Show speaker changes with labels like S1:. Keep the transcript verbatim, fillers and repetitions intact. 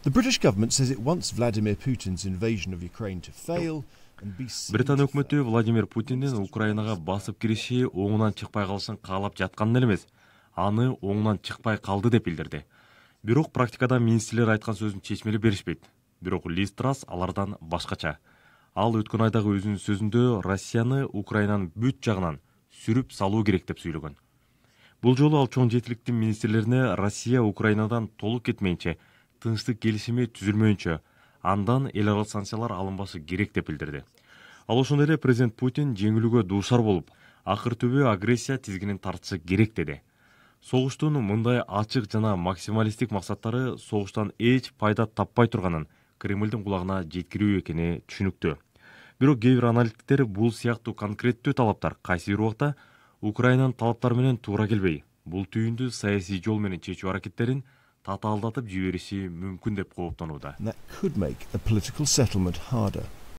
S1: The British government says it wants Vladimir Putin's invasion of Ukraine to fail.
S2: Британ өкмөтү Владимир Путиндин Украинага басып кириши оңунан чыкпай калышын каалап жатканын эмес, аны оңунан чыкпай калды деп билдирди. Бирок практикада министрлер айткан сөзүн чечмелеп беришпейт. Бирок Лиз Трасс алардан башкача. Ал өткөн айдагы өзүнүн сөзүндө Россияны Украинанын бүт жагынан сүрүп салуу керек деп сүйлөгөн. Бул жолу ал чоң жетиликтин министрлерине Россия Украинадан толук кетмейинче, тынчтык келишими түзүлмөйүнчө, андан эл аралык санкциялар алынбашы керек деп билдирди. Ал ошондой эле президент Путин жеңилүүгө дуушар болуп, акыр түбү агрессия тизгинин тартышы керек деди. Согуштун мындай ачык жана максималисттик максаттары согуштан эч пайда таппай турганын Кремлдин кулагына жеткирүү экени түшүнүктүү. Бирок кээ бир аналитиктер бул сыяктуу конкреттүү талаптар кайсы бир убакта Украинанын талаптары менен туура келбей, бул түйүндү саясий жол менен чечүү аракеттерин татаалдатып жибериши мүмкүн деп кооптонууда.
S1: That could make a political settlement harder.